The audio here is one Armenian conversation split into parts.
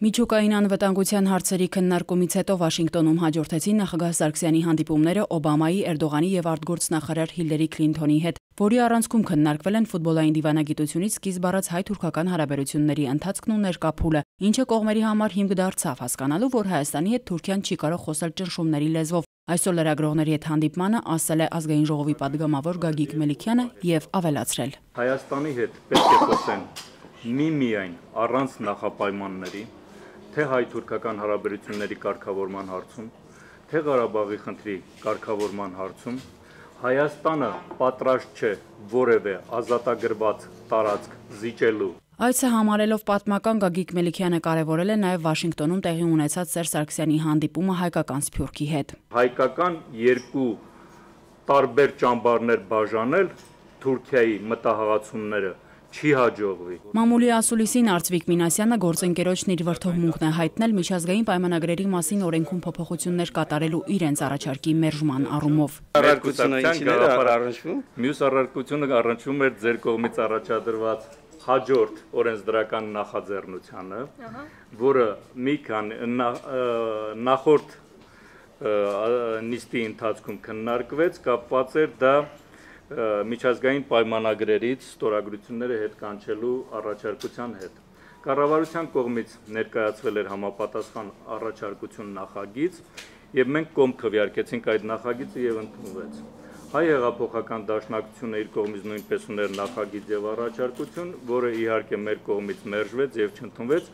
Միջուկային անվտանգության հարցերի քննարկումից հետո Վաշինգտոնում հաջորդեցին նախագահ Սարգսյանի հանդիպումները Օբամայի, Էրդողանի եւ արտգործնախարար Հիլարի Քլինթոնի հետ, որի առանցքում քննարկվել են ֆուտբոլային դիվանագիտությունից սկիզբ առած հայ-թուրքական հարաբերությունների ընթացքն ու ներկա փուլը, ինչը կողմերի համար հիմք դարձավ հասկանալու, որ Հայաստանի հետ Թուրքիան չի կարող խոսել ճնշումների լեզվով։ Այսօր լրագրողների հետ հանդիպմանը ասել է Ազգային ժողովի падգամավոր Գագիկ Մելիքյանը եւ ավելացրել. Հայաստանի հետ պետք է խոսեն միմիայն առանց նախապայմանների, թե հայ-թուրքական հարաբերությունների կարգավորման հարցում, թե Ղարաբաղի խնդրի կարգավորման հարցում, Հայաստանը պատրաստ չէ որևէ ազատագրված տարածք զիջելու։ Այցը համարելով պատմական Գագիկ Մելիքյանը կարևորել է նաև Վաշինգտոնում տեղի ունեցած Սերժ Սարգսյանի հանդիպումը հայկական սփյուռքի հետ։ Հայկական երկու տարբեր ճամբարներ բաժանել Թուրքիայի մտահղացումները չի հաջողվի։ Մամուլի ասուլիսին Արծվիկ Մինասյանը գործընկերոջն իր վրդովմունքն է հայտնել միջազգային պայմանագրերի մասին օրենքում փոփոխություններ կատարելու իրենց առաջարկի մերժման առումով։ Մյուս առարկությունը առնչվում էր ձեր կողմից առաջադրված հաջորդ օրենսդրական նախաձեռնությանը, որը մի քանի նախորդ նիստի ընթացքում քննարկվեց, կապված էր դա միջազգային պայմանագրերից ստորագրությունները հետ կանչելու առաջարկության հետ։ Կառավարության կողմից ներկայացվել էր համապատասխան առաջարկություն նախագիծ, եւ մենք կողմ քվեարկեցինք այդ նախագիծը եւ ընդունվեց։ Հայ հեղափոխական դաշնակցությունը իր կողմից նույնպես ուներ նախագիծ եւ առաջարկություն, որը իհարկե մեր կողմից մերժվեց եւ չընդունվեց,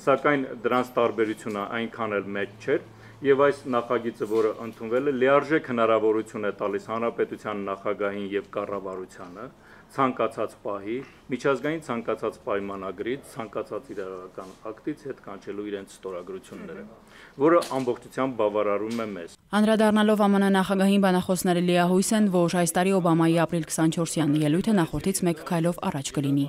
սակայն դրանց տարբերությունը այնքան էլ մեծ չէր։ Եվ այս նախագիծը, որը ընդունվել է, լիարժեք հնարավորություն է տալիս հանրապետության նախագահին եւ կառավարությանը ցանկացած պահի միջազգային ցանկացած պայմանագրից, ցանկացած իրավական ակտից հետ կանչելու իրենց ստորագրությունները, որը ամբողջությամբ բավարարում է մեզ։ Անդրադառնալով ԱՄՆ նախագահին բանախոսները լիահույս են, որ այս տարի Օբամայի ապրիլ 24-յան ելույթը նախորդից մեկ քայլով առաջ կլինի։